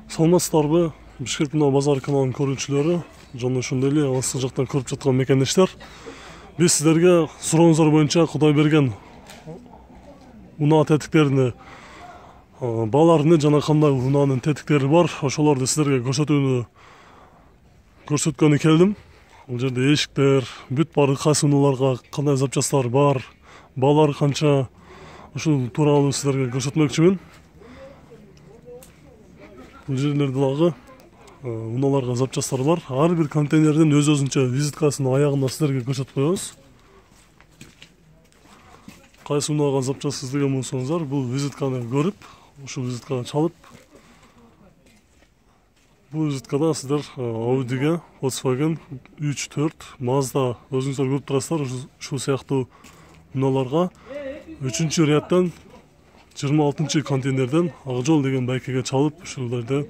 Саламатсыздарбы? Бишкек Унаа базар каналынын көрүүчүлөрү жана ошондой эле алыс жактан көрүп жаткан мекендештер. Биз сиздерге сурооңуздар боюнча Кудай берген унаа тетиктерини, бааларыны жана кандай унаанын тетиктери бар, ошолорду сиздерге көрсөткөнү келдим. Бул жерде эшиктер, бүт баары кайсы унааларга кандай запчасттар бар, баалары канча, ушул тууралуу сиздерге көрсөтмөкчүмүн. Бул жерлерде дагы унааларга запчасттар бар. Ар бир контейнердин өз-өзүнчө визиткасын аягында сиздерге көрсөтүп коебуз. Кайсы унаага запчаст издеген болсоңуздар, бул визитканы көрүп, ушул визитканы чалып, бул визиткада сиздер Audi'ге, Volkswagen 3-4, Mazda өзүңүздөр көрүп турасыздар, ушул сыяктуу унааларга 3-рядтан 26 контейнерден Акжол деген байкеге чалып, ушуларды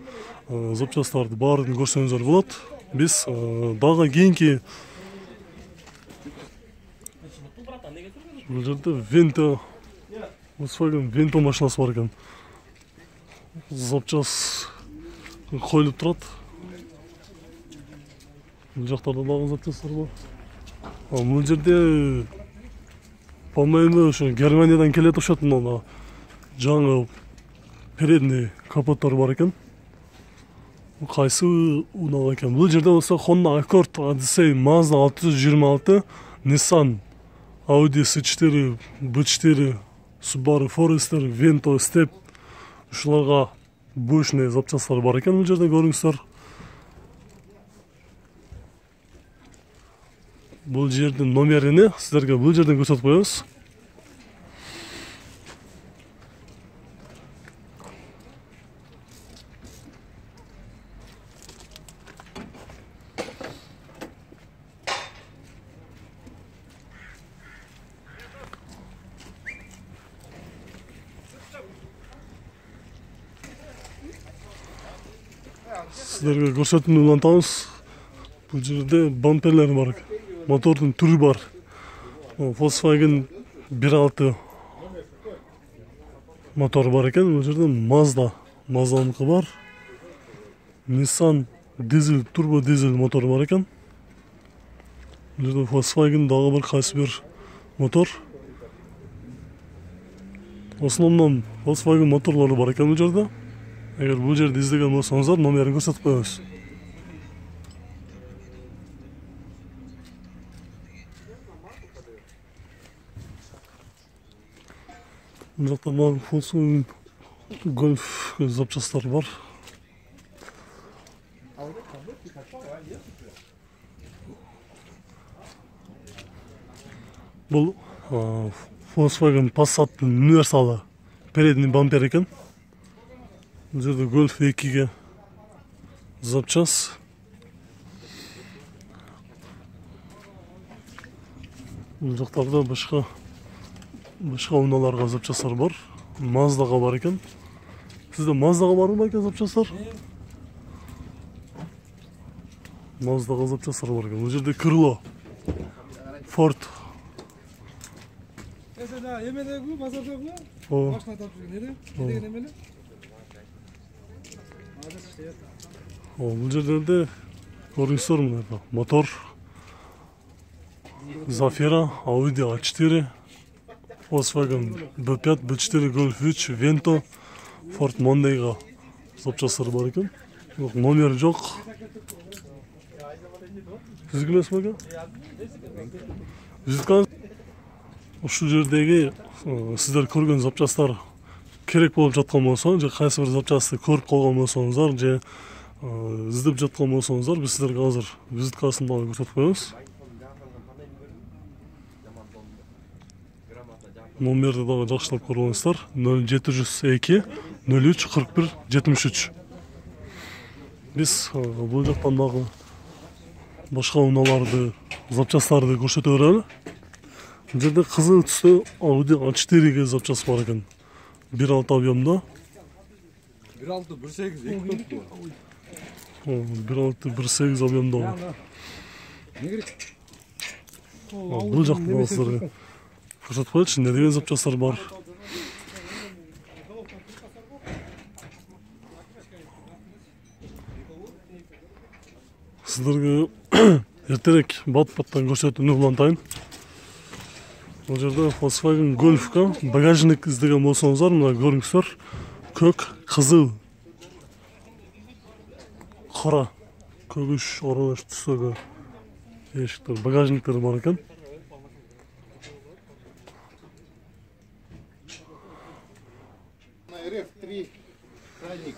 запчасттарды баарын көрсөңүздөр болот. Биз дагы кийинки бул жерде Vento, Volkswagen Vento машинасы бар экен. Запчас коюлуп турат. Бул жактарда дагы запчасттар бар. Бул жерде по-моему ошо Германиядан келет окшойт, мына жаңы передний капоттор бар экен. Кайсы унаага экен? Бул жерде болсо Honda Accord, Odyssey, Mazda 626, Nissan, Audi S4, B4, Subaru Forester, Vento, Step, ушуларга бушный запчасттар бар экен. Бул жерде көрүңүздөр. Бул жердин номерини сиздерге бул жерден көрсөтүп коебуз. Сиздерге көрсөтүүнү улантабыз. Бул жерде бамперлер бар. Мотордун түрү бар. Volkswagen 1.6 мотор бар экен. Бул жерде Mazda'ныкы бар. Nissan дизель, турбо дизель мотор бар экен. Бул жерде Volkswagen дагы бір кайсы бир мотор. Основном Volkswagen моторлору бар экен бул жерде. Эгер бул жерде издеген болсоңуздар, номерин көрсөтүп коебуз. Бул жакта Volkswagen Golf запчасттар бар. Бул Volkswagen Passat'тын универсалы передний бампер экен. Бул жерде Golf 2-ге запчас. Бул жактарда башка унааларга запчасттар бар. Mazda'га бар экен. Сизде Mazda'га барбы байке запчасттар? Mazda'га запчасттар бар экен. Бул жерде крыло Ford. Эмедеги базардагы машина тапып жүргөн эле. Деген эмеле? Бул жерлерде көрүңүздөр мына мотор Zafira, Audi A4, Volkswagen B5, B4, Golf 3, Vento, Ford Monday'ga запчасттар бар экен. Номер жок. Сизге эмесби экен? Визиткаңыз ушул жердеги сиздер көргөн запчасттар керек болуп жаткан болсо, же кайсы бир запчастты көрүп калган болсоңуздар, же издеп жаткан болсоңуздар, биз сиздерге азыр визиткасын дагы көрсөтүп коебуз. Номерди дагы жакшылап көрүп алыңыздар. 0702 03 41 73. Биз бул жактан дагы башка унааларды, запчасттарды көрсөтө берели. Бул жерде кызыл түстө Audi A4-ге запчаст бар экен. 1.6 объемда. 1.6 1.8 1.6 1.8 объемда. Бул жакта сиздерге көрсөтүп коелучу, эмне деген запчасттар бар. сіздерге эртерээк бат-баттан көрсөтүүнү улантайын. Бул жерде Volkswagen Golf'ка багажник издеген болсоңуздар, мына көрүңүздөр, көк, кызыл, кара, көгүш аралаш түстөгү эшиктер, багажниктер бар экен. РФ-3 краник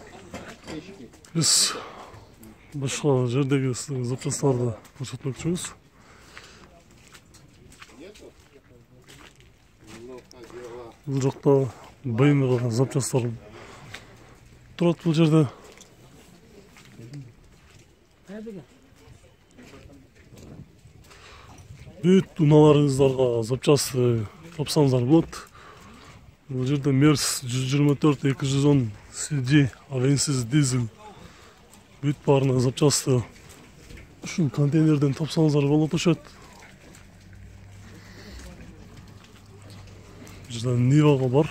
печки. Биз башка жердеги запчасттарды көрсөтмөкчүбүз. Бул жакта BMW запчасттар турат бул жерде. Бүт унааларыңыздарга запчасты тапсаңыздар болот. Бул жерде Мерс 124-210 CD авенсиз дизель. Бүт баарына запчасты ушул контейнерден тапсаңыздар болот ошот. Жерде Нивага бар.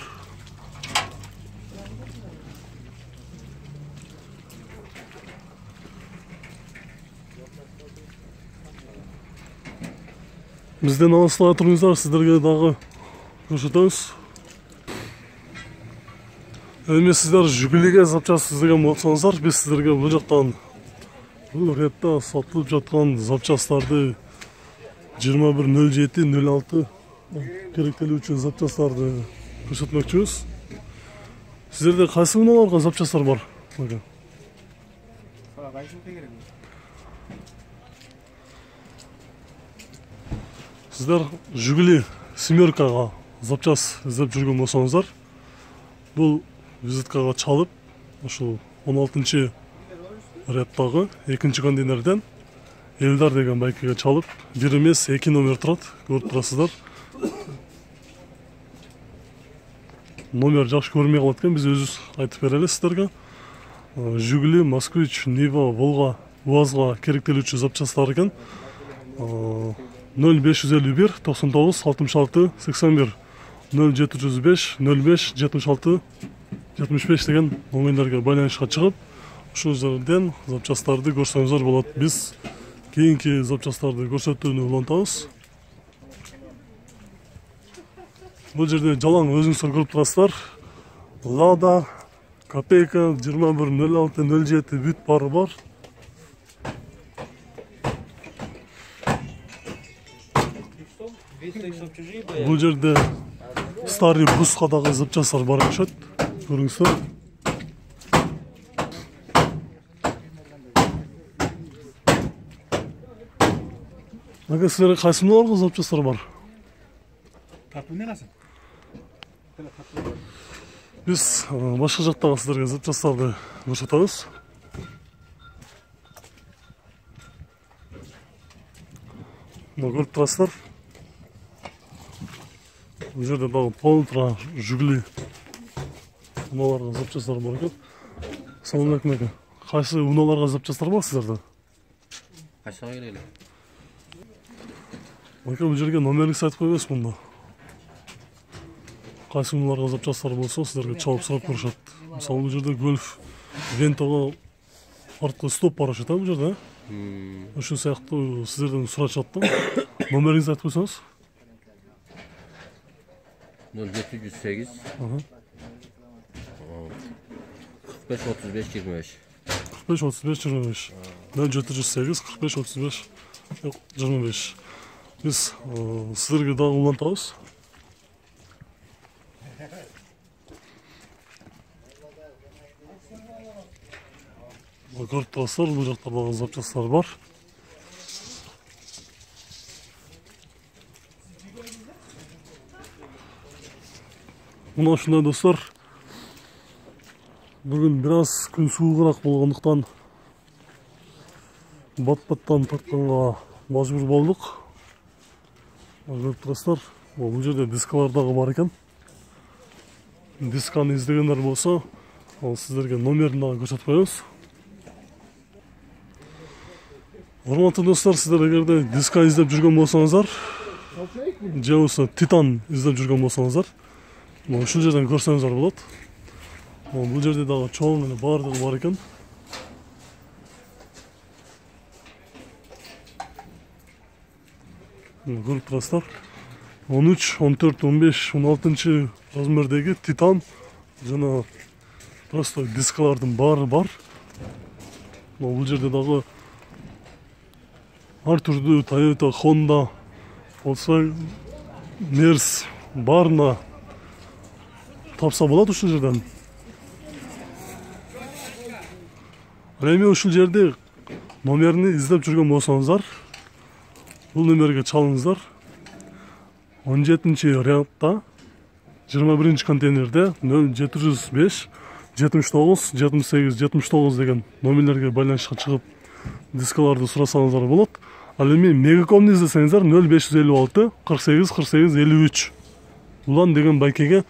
Бизден алыстала туруңуздар, сиздерге дагы көрсөтөбүз. Эми сиздер Жигулиге запчаст издеген болсоңуздар, биз сиздерге бул жактан бул ретте сатылып жаткан запчасттарды 2107-06 керектелүүчү запчасттарды көрсөтмөкчүбүз. Сиздерде кайсы унааларга запчасттар бар? Сиздер Жигули семеркага запчаст издеп жүргөн болсоңуздар, бул визиткага чалып, ошол 16-чы реттагы 2-чи контейнерден Элдар деген байкеге чалып, бир эмес 2 номер турат, көрүп турасыздар. Номер жакшы көрмөй калат экен, биз өзүбүз айтып берели сиздерге. Жигули, Москвич, Нива, Волга, УАЗга керектелүүчү запчасттар экен. 0551 99 66 81 0705 05 76 75 деген номерлерге байланышка чыгып, ушул жерден запчасттарды көрсөңүздөр болот. Биз кийинки запчасттарды көрсөтүүнү улантабыз. Бул жерде жалаң өзүңүздөр көрүп турасыздар. Лада, Копейка 2106-07 бүт баары бар. Бул жерде старый буска дагы запчасттар бар окшойт. Көрүңүздөр. Ага, силерге кайсы унааларга запчасттар бар? Биз башка жактагы сиздерге запчасттарды көрсөтөбүз. Мына көрүп турасыздар. Бул жерде дагы полтора Жигули унааларга запчасттар бар экен. Салам алейкум ака. Кайсы унааларга запчасттар бар сиздерде? Кайсыга келели? Ака, бул жерге номериңизди айтып койбойсузбу мында? Кайсы унааларга запчасттар болсо сиздерге чалып сурап көрүшөт. Мисалы бул жерде Golf Venta'га арткы стоп бар окшойт, бул жерде. Ошол сыяктуу сиздерден сурашат да. Номериңизди айтып койсоңуз? 0708 45 35 25 45 35 25 0708 45 35 25. Биз сиздерге дагы улантабыз. Көрүп турасыздар, бул жакта дагы запчасттар бар. Мына ушундай достор, бүгүн бир аз күн суугураак болгондуктан бат-баттан тартканга мажбур болдук. Көрүп турасыздар, бул жерде дискалар дагы бар экен. Дисканы издегендер болсо, ал сиздерге номерин дагы көрсөтүп коебуз. Урматтуу достор, сиздер эгерде диска издеп жүргөн болсоңуздар, же болбосо Титан издеп жүргөн болсоңуздар, ушул жерден көрсөңүздөр болот. Бул жерде дагы чоң эле баардыгы бар экен. көрүп турасыздар. 13, 14, 15, 16 размердеги титан жана просто дискалардын баары бар. Бул жерде дагы ар түрдүү Toyota, Honda, болсо Mercedes баарына тапса болот ушул жерден. Эми ушул жерде номерини издеп жүргөн болсоңуздар, бул номерге чалыңыздар. 17 рядта 21 контейнерде 0705 79 78 79 деген номерлерге байланышка чыгып дискаларды сурасаңыздар болот. Ал эми Мегакомду издесеңиздер 0556 48 48 53 улан деген байкеге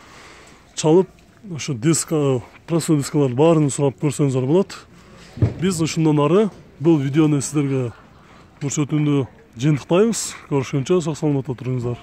чалып ошо диска, простой дискалар баарын сурап көрсөңүздөр болот. Биз ушундан ары бул видеону сиздерге көрсөтүүнү жыйынтыктайбыз. Көрүшкөнчө сак саламатта туруңуздар.